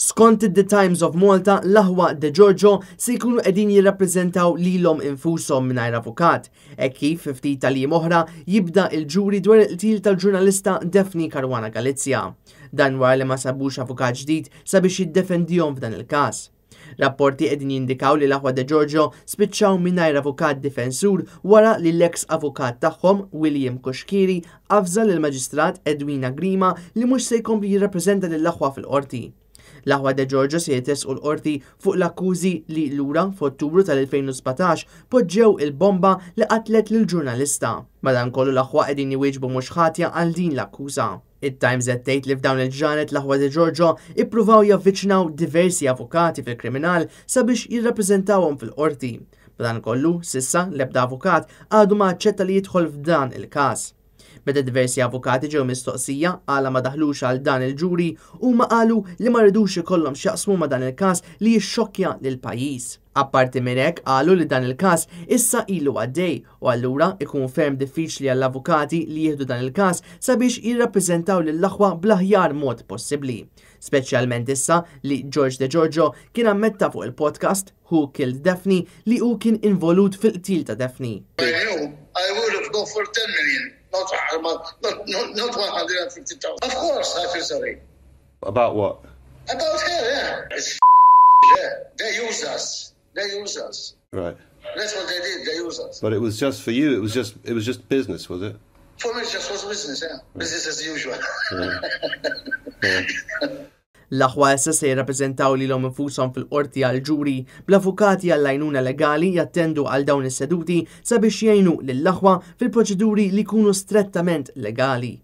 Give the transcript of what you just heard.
Skont The Times of Malta, l-aħwa De Giorgio se jkunu qegħdin jirrappreżentaw lilhom infushom mingħajr avukat, hekk kif fi ftit tal-jiem oħra jibda l-ġuri dwar il-qtil tal-ġurnalista Daphne Caruana Galizia. Dan wara li ma sabux avukat ġdid sabiex jiddefendihom f'dan il-każ. Rapporti qegħdin jindikaw li l-aħwa De Giorgio spiċċaw mingħajr avukat difensur wara li l-eks avukat tagħhom, William Cuschieri, avża lill-Maġistrat Edwina Grima li mhux se jkompli jirrappreżenta lill-aħwa fil-Qorti. L-aħwa De Giorgio se jitressqu l-Qorti fuq l-akkużi li lura f'Ottubru tal-2017 poġġew il-bomba li qatlet lill-ġurnalista. Madankollu l-aħwa qegħdin jwieġbu mhux ħatja għal din l-akkuża. It-Times qed tgħid li f'dawn il-ġranet l-aħwa De Giorgio ippruvaw javviċinaw diversi avukati fil-kriminal sabiex jirrappreżentawhom fil-qorti. Madankollu, s'issa l-ebda avukat għadu ma aċċetta li jidħol f'dan il-każ. Meta diversi avukati ġew mistoqsija għala ma daħlux għal dan il-ġuri, huma qalu li ma ridux ikollhom x'jaqsmu ma' dan il-każ li jixxokkja lill-pajjiż. Apparti minn hekk qalu li dan il-każ issa ilu għaddej u allura ikun ferm diffiċli għall-avukati li jieħdu dan il-każ sabiex jirrappreżentaw lill-aħwa bl-aħjar mod possibbli. Speċjalment issa li George De Giorgio kien ammetta fuq il-podcast Who Killed Daphne li hu kien involut fil-qtil ta' Daphne. I knew I would have go for 10 million, not, not, not, not 150,000. Of course I feel sorry. About what? About her, yeah. It's yeah. They used us. They used us. Right. That's what they did. They used us. But it was just for you. It was just it was just business, was it? For me, it just was business, yeah. Right. Business as usual. Yeah. Yeah. L-aħwa issa se jirrappreżentaw lilhom infushom fil-qorti għall-ġuri, bl-avukati għall-għajnuna legali jattendu għal dawn is-seduti sabiex jgħinu lill-aħwa fil-proċeduri li jkunu strettament legali.